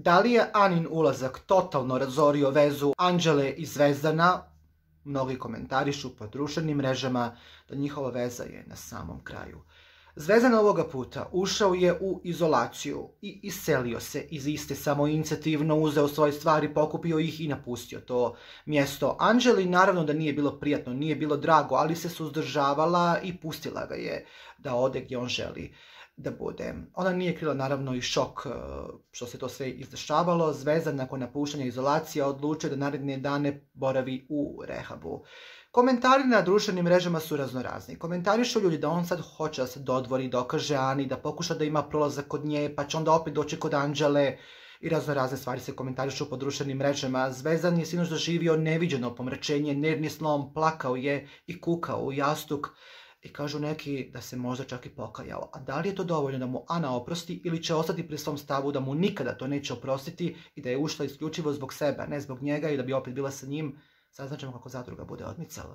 Da li je Anin ulazak totalno razorio vezu Anđele i Zvezdana? Mnogi komentarišu po društvenim mrežama da njihova veza je na samom kraju. Zvezdan ovoga puta ušao je u izolaciju i iselio se iz iste, samoinicijativno uzeo svoje stvari, pokupio ih i napustio to mjesto. Anđeli naravno da nije bilo prijatno, nije bilo drago, ali se suzdržavala i pustila ga je da ode gdje on želi da bude. Ona nije krila naravno i šok što se to sve izdešavalo. Zvezdan nakon napuštanja izolacije odlučio da naredne dane boravi u rehabu. Komentari na društvenim mrežama su raznorazni. Komentarišu ljudi da on sad hoće da se dodvori, dokaže Ani, da pokuša da ima prolazak kod nje, pa će onda opet doći kod Anđele i raznorazne stvari se komentarišu po društvenim mrežama. Zvezdan je sinoć doživio neviđeno pomračenje, nervni slom, plakao je i kukao u jastuk. I kažu neki da se možda čak i pokajao. A da li je to dovoljno da mu Ana oprosti ili će ostati pri svom stavu da mu nikada to neće oprostiti i da je ušla isključivo zbog sebe, ne zbog njega i da bi opet bila sa njim? Saznaćemo kako zadruga bude odmicala.